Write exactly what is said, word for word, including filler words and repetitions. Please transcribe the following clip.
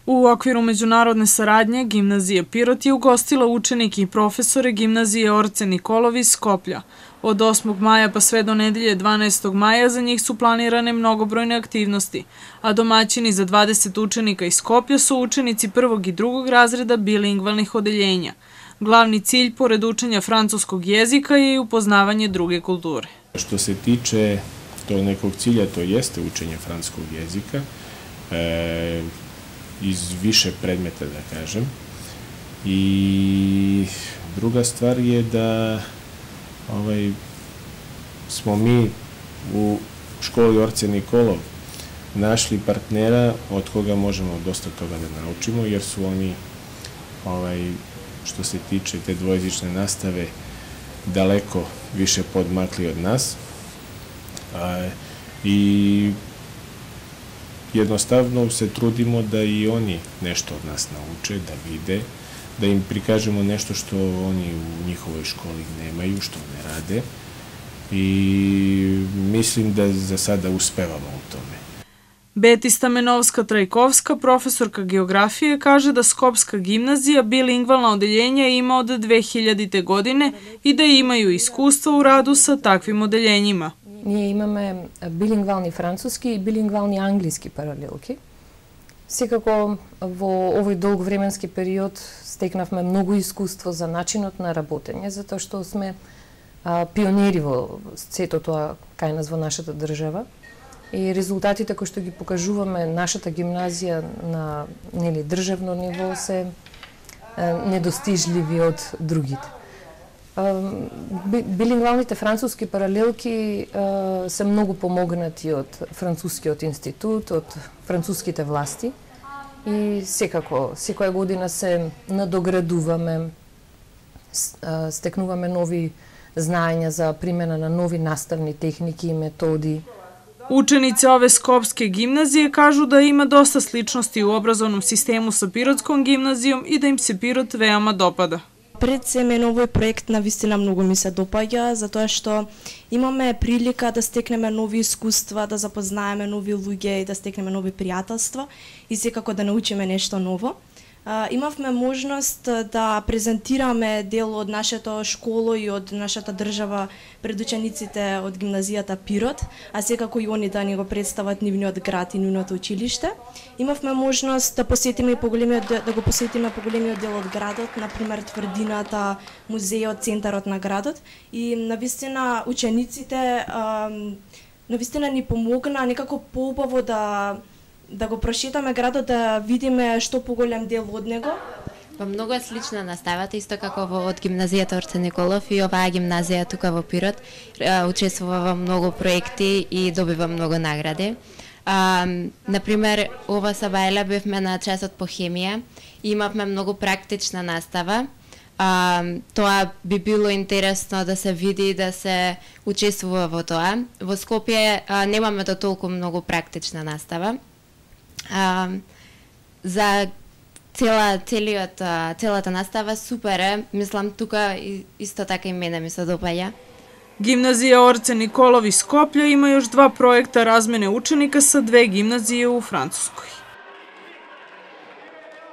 U okviru međunarodne saradnje, Gimnazija Pirot je ugostila učenike i profesore Gimnazije Orce Nikolov iz Skoplja. Od osmog maja pa sve do nedelje dvanaestog maja za njih su planirane mnogobrojne aktivnosti, a domaćini za dvadeset učenika iz Skoplja su učenici prvog i drugog razreda bilingvalnih odeljenja. Glavni cilj, pored učenja francuskog jezika, je i upoznavanje druge kulture. Što se tiče tog nekog cilja, to jeste učenje francuskog jezika, e, iz više predmeta, da kažem. I druga stvar je da ovaj, smo mi u školi Orce Nikolov našli partnera od koga možemo dosta toga da naučimo, jer su oni, ovaj, što se tiče te dvojezične nastave, daleko više podmakli od nas. A, i jednostavno se trudimo da i oni nešto od nas nauče, da vide, da im prikažemo nešto što oni u njihovoj školi nemaju, što ne rade, i mislim da za sada uspevamo u tome. Beti Stamenovska-Trajkovska, profesorka geografije, kaže da Skopska gimnazija bilingvalna odeljenja ima od dve hiljadite. godine i da imaju iskustva u radu sa takvim odeljenjima. Ние имаме билингвални француски и билингвални англиски паралелки. Секако во овој долг временски период стекнавме многу искуство за начинот на работење, затоа што сме а, пионери во сето тоа кај нас во нашата држава. И резултатите кои што ги покажуваме нашата гимназија на нели државно ниво се а, недостижливи од другите. Билингвалните француски паралелки а, се многу помогнати од Францускиот институт, од француските власти и секако, секоја година се надоградуваме, стекнуваме нови знаења за примена на нови наставни техники и методи. Učenice ove Skopske gimnazije kažu da ima dosta sličnosti u obrazovnom sistemu sa Pirotskom gimnazijom i da im se Pirot veoma dopada. Пред се мене овој проект навистина многу ми се допаѓа, затоа што имаме прилика да стекнеме нови искуства, да запознаеме нови луѓе и да стекнеме нови пријателства и секако да научиме нешто ново. Имавме можност да презентираме дел од нашето школо и од нашата држава пред учениците од гимназијата Пирот, а секако и они да ни го представат нивниот град и нивното училиште. Имавме можност да посетиме и поголемиот да го посетиме поголемиот дел од градот, например тврдината, музејот, центарот на градот, и навистина учениците навистина ни помогна некако поубаво да да го прошетаме градот, да видиме што поголем дел од него. Во многу е слична наставата, исто како во од гимназијата Орце Николов, и оваа гимназија тука во Пирот учествува во многу проекти и добива многу награди. А, например, ова сабајле бевме на часот по хемија и имавме многу практична настава. А, тоа би било интересно да се види и да се учествува во тоа. Во Скопје а, немаме до толку многу практична настава. А, за цела целиот целата настава супер е, мислам тука исто така и мене ми се допаѓа. Gimnazija Orce Nikolov iz Skoplja ima još dva projekta razmene učenika sa dve gimnazije u Francuskoj.